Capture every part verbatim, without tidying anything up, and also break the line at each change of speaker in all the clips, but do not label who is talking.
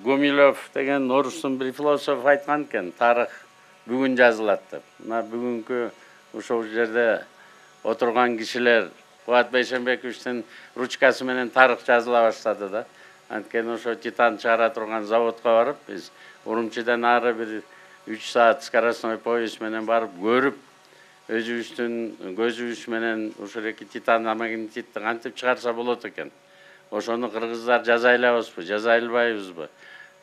Гумилев деген орустун бир философ айткан экен, тарых бүгүн жазылат деп. Мына бүгүнкү ошол жерде отурган кишилер Кубат Бейшенбековичтин ручкасы менен тарых жазыла баштады да. Анткени ошо титан чыгара турган заводко барып, биз Урумчиден ары бир үч саат скоростной поезд менен барып көрүп, өзүбүздүн көзүбүз менен ушул эки титан магнетитти кантип чыгарса болот экен. Ошону кыргыздар жаза алабызбы, жаза албайбызбы?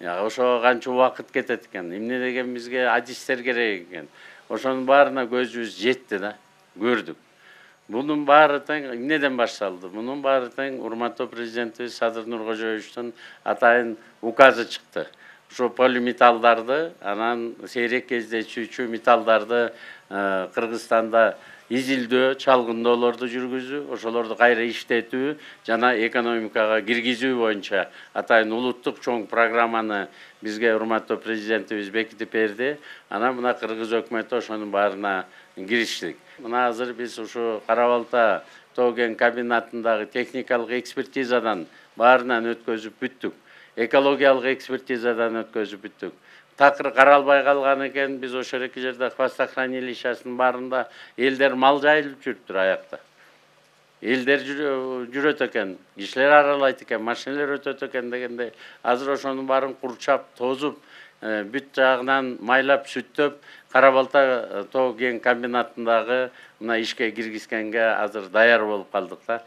Ошого канча убакыт кетет экен? Эмне деген бизге адистер керек экен? Ошонун баарына көзүбүз жетти да, көрдүк. Бунун баары тең эмнеден башталды? Мунун баары тең урматтуу президентибиз Садыр Нуркожоевичтин атайын указы чыкты. Ошо полиметаллдарды, анан сейрек кездешүүчү металлдарды Кыргызстанда изилдөө, чалгындоолорду жүргүзүү, ошолорду кайра иштетүү жана экономикага киргизүү боюнча атайын улуттук чоң программаны бизге урматтуу президентибиз бекитип берди. Анан мына Кыргыз өкмөтү ошонун баарына кириштик. Мына азыр биз ушу Кара-Балта тоо-кен комбинатындагы техникалык экспертизадан баарынан өткөзүп бүттүк. Экологиялык экспертизадан өткөзүп бүттүк. Такыр каралбай калган экен, биз ошол эки жерде хвостохранилищесинин баарында элдер мал жайылып жүрүптүр аякта. Элдер жүрөт экен, кишилер аралайт экен, машиналар өтөт экен дегенде, азыр ошонун баарын курчап, тозуп, бүт жагынан майлап, сүттөп, Кара-Балта тоо-кен комбинатындагы мына ишке киргизгенге азыр даяр болуп калдык да.